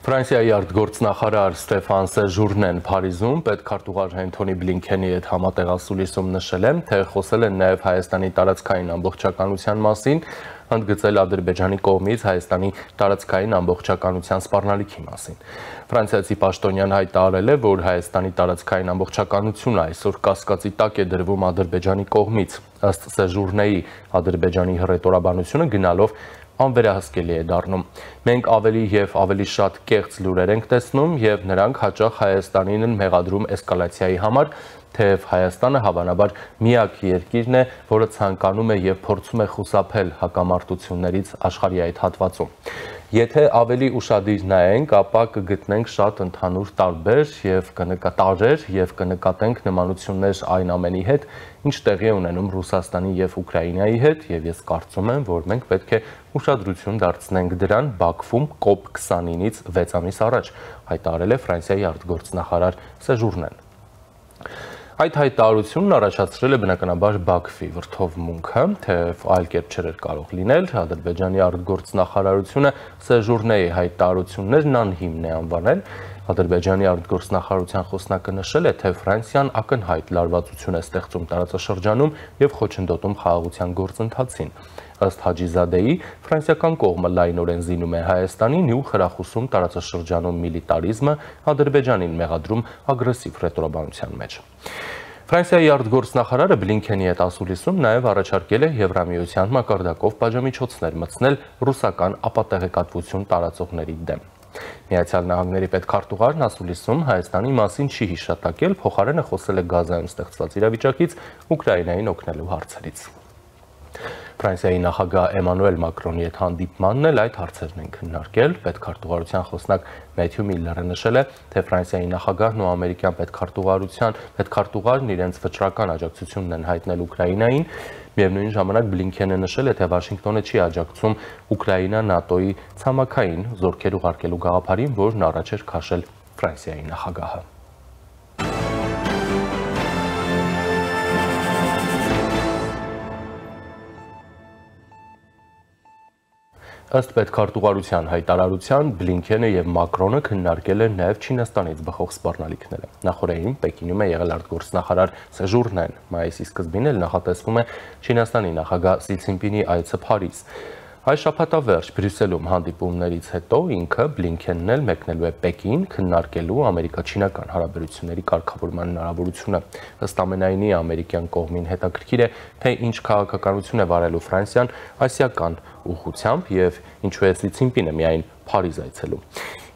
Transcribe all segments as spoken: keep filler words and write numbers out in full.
Ֆրանսիայի արտգործնախարար Ստեֆան Սեժուրնեն Փարիզում պետքարտուղար Անթոնի Բլինքենի հետ համատեղասուլիսում նշել է, թե խոսել են նաև Հայաստանի տարածքային ամբողջականության մասին, ընդգծել Ադրբեջանի կողմից Հայաստանի տարածքային ամբողջականության սպառնալիքի մասին։ Ֆրանսիացի պաշտոնյան հայտարարել է, որ Հայաստանի տարածքային ամբողջականությունը այսօր կասկածի տակ է դրվում Ադրբեջանի կողմից։ Ըստ Սեժուրնեի, Ադրբեջանի հռետորաբանությունը գնալով անվերահսկելի է դառնում։ Մենք ավելի եւ ավելի շատ կեղծ լուրեր ենք տեսնում եւ նրանք հաճախ Հայաստանին են մեղադրում էսկալացիայի համար, թեև Հայաստանը հավանաբար միակ երկիրն է, որը ցանկանում է եւ փորձում է խուսափել հակամարտություններից աշխարհի այդ հատվածում։ Եթե ավելի ուշադիր նայենք, ապա կգտնենք շատ ընդհանուր տարբեր եւ կնկատառեր եւ կնկատենք նմանություններ այն ամենի հետ, ինչ տեղի է ունենում Ռուսաստանի եւ Ուկրաինայի հետ, եւ ես կարծում եմ, որ մենք պետք է ուշադրություն դարձնենք դրան Բաքվում կոպ քսանինից վեց ամիս առաջ, հայտարարել է Ֆրանսիայի արտգործնախարար Սեժուրնեն։ Այդ հայտարարությունն առաջացրել է բնականաբար Բաքվի վրդովմունքը, թեև այլ կերպ չէր կարող լինել, Ադրբեջանի արտգործնախարարությունը Սեժուրնեի հայտարարություններն անհիմն է անվանել։ Ադրբեջանի արտգործնախարարության խոսնակը նշել է, թե Ֆրանսիան ակնհայտ լարվածություն է ստեղծում տարածաշրջանում եւ խոչընդոտում խաղաղության գործընթացին։ Ըստ Հաջիզադեի, ֆրանսիական կողմը լայնորեն զինում է Հայաստանին ու խրախուսում տարածաշրջանում միլիտարիզմը, Ադրբեջանին մեղադրում ագրեսիվ ռետորաբանության մեջ։ Ֆրանսիայի արտգործնախարարը Բլինքենի հետ ասուլիսում նաև առաջարկել է Եվրամիության մակարդակով պատժամիջոցներ մտցնել ռուսական ապատեղեկատվություն տարածողների դեմ։ Միացյալ Նահանգների պետքարտուղարն ասուլիսում Հայաստանի մասին չի հիշատակել, փոխարենը խոսել է Գազայում ստեղծված իրավիճակից, Ուկրաինային օգնելու հարցերից։ Ֆրանսիայի նախագահ Էմանուել Մակրոնի հետ հանդիպմանն էլ այդ հարցերն են քննարկել։ Պետքարտուղարության խոսնակ Մեթյու Միլլերը նշել է, թե Ֆրանսիայի նախագահն ու ամերիկյան պետքարտուղարության պետքարտուղարն իրենց վճռական աջակցությունն են հայտնել Ուկրաինային։ Միևնույն ժամանակ Բլինքենը նշել է, թե Վաշինգտոնը չի աջակցում Ուկրաինա ՆԱՏՕ-ի ցամաքային զորքեր ուղարկելու գաղափարին, որն առաջ էր քաշել Ֆրանսիայի նախագահը։ Ըստ պետքարտուղարության հայտարարության Բլինքենը եւ Մակրոնը քննարկել են նաեւ Չինաստանից բխող սպառնալիքները։ Նախորդին Պեկինում է եղել արտգործնախարար Սեժուրնեն, մայիսի սկզբին էլ նախատեսվում է Չինաստանի նախագահ Սի Ցզինպինի այցը Փարիզ։ Այս շաբաթավերջ Բրյուսելում հանդիպումներից հետո ինքը Բլինքենն էլ մեկնելու է Պեկին քննարկելու ամերիկա-չինական հարաբերությունների կարգավորման հնարավորությունը։ Ըստ ամենայնի ամերիկյան կողմին հետաքրքիր է, թե ինչ քաղաքականություն է վարելու Ֆրանսիան ասիական ուղղությամբ եւ ինչու է Սի Ցզինպինը միայն Փարիզ այցելում։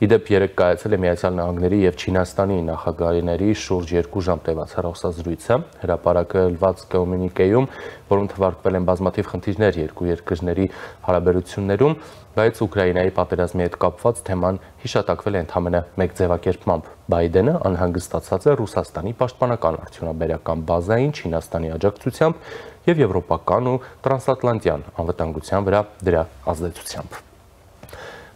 Իդեպ երեկ կայացել է Միացյալ Նահանգների եւ Չինաստանի նախագահների շուրջ երկու ժամ տևած հեռախոսազրույցը, հրապարակված կոմունիկեում, որում թվարկվել են բազմաթիվ խնդիրներ երկու երկրների հարաբերություններում, բայց Ուկրաինայի պատերազմի հետ կապված թեման հիշատակվել է ընդամենը մեկ ձևակերպմամբ։ Բայդենը անհանգստացած է Ռուսաստանի պաշտպանական արդյունաբերական բազային Չինաստանի աջակցությամբ եւ եվրոպական ու տրանսատլանտյան անվտանգության վրա դրա ազդեցությամբ։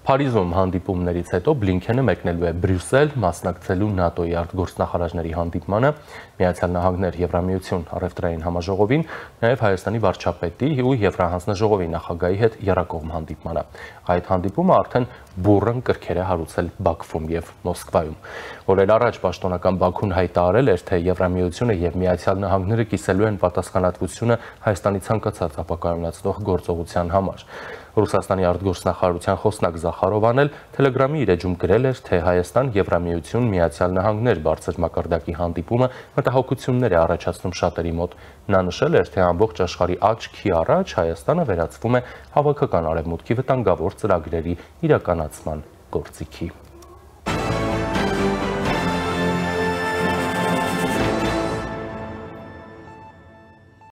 Փարիզում հանդիպումներից հետո Բլինքենը մեկնելու է Բրյուսել, մասնակցելու ՆԱՏՕ-ի արտգործնախարարների հանդիպմանը, Միացյալ Նահանգներ Եվրամիություն առևտրային համաժողովին, նաև Հայաստանի վարչապետի ու Եվրահանձնաժողովի նախագահի հետ եռակողմ հանդիպմանը։ Այդ հանդիպումը արդեն բուռն կրքեր է հարուցել Բաքվում եւ Մոսկվայում։ Օրեր առաջ պաշտոնական Բաքուն հայտարարել էր, թե Եվրամիությունը եւ Միացյալ Նահանգները կիսելու են պատասխանատվությունը Հայաստանի ցանկացած ապակայունացնող գործողության համար։ Ռուսաստանի արտգործնախարարության խոսնակ Զախարովան էլ Թելեգրամի իր էջում գրել էր, թե Հայաստան Եվրամիություն Միացյալ Նահանգներ բարձր մակարդակի հանդիպումը մտահոգություններ է առաջացնում շատերի մոտ։ Նա նշել էր, թե ամբողջ աշխարհի աչքի առաջ Հայաստանը վերածվում է հավաքական արևմուտքի վտանգավոր ծրագրերի իրականացման գործիքի։